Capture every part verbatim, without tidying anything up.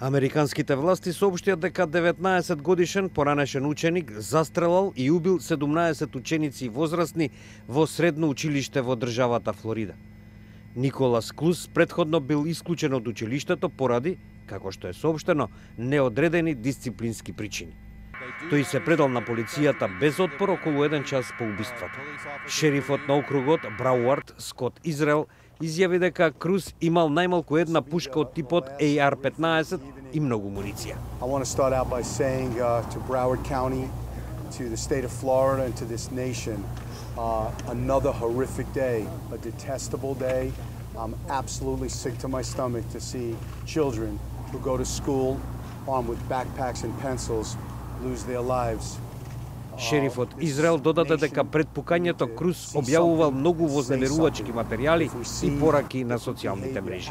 Американските власти соопштија дека деветнаесет годишен поранешен ученик застрелал и убил седумнаесет ученици и возрастни во средно училиште во државата Флорида. Николас Клус претходно бил исклучен од училиштето поради, како што е соопштено, неодредени дисциплински причини. Тој се предал на полицијата без отпор околу еден час по убиството. Шерифот на округот Брауард Скот Израел изјави дека Круз имал најмалку една пушка од типот A R петнаесет и многу муниција. I want to start out by saying uh, to Broward County, to the state of Florida and to this nation, uh, another horrific day, a detestable day. I'm absolutely sick to my stomach to see children who go to school armed with backpacks and pencils lose their lives. Шерифот Израел додаде дека пред пукањето Круз објавувал многу вознемирувачки материјали и пораки на социјалните мрежи.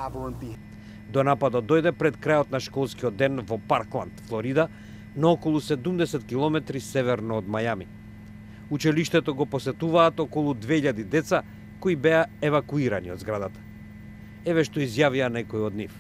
До нападот дојде пред крајот на школскиот ден во Паркланд, Флорида, на околу седумдесет километри северно од Мајами. Училиштето го посетуваат околу две илјади деца кои беа евакуирани од зградата. Еве што изјавија некои од нив.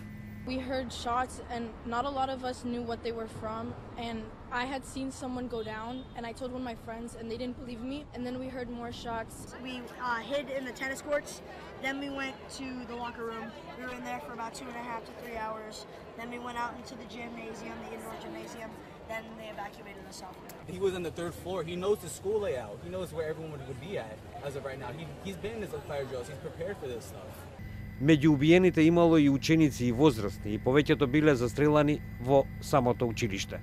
We heard shots and not a lot of us knew what they were from, and I had seen someone go down and I told one of my friends and they didn't believe me, and then we heard more shots. We uh, hid in the tennis courts, then we went to the locker room. We were in there for about two and a half to three hours. Then we went out into the gymnasium, the indoor gymnasium, then they evacuated us out. He was on the third floor. He knows the school layout. He knows where everyone would be at as of right now. He, he's been in his fire drills. He's prepared for this stuff. Меѓу убиените имало и ученици и возрастни, и повеќето биле застрелани во самото училиште.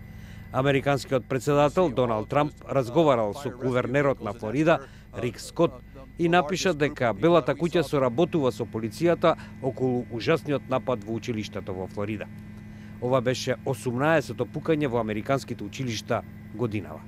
Американскиот председател Доналд Трамп разговарал со гувернерот на Флорида, Рик Скот, и напиша дека Белата куќа соработува со полицијата околу ужасниот напад во училиштето во Флорида. Ова беше осумнаесето пукање во американските училишта годинава.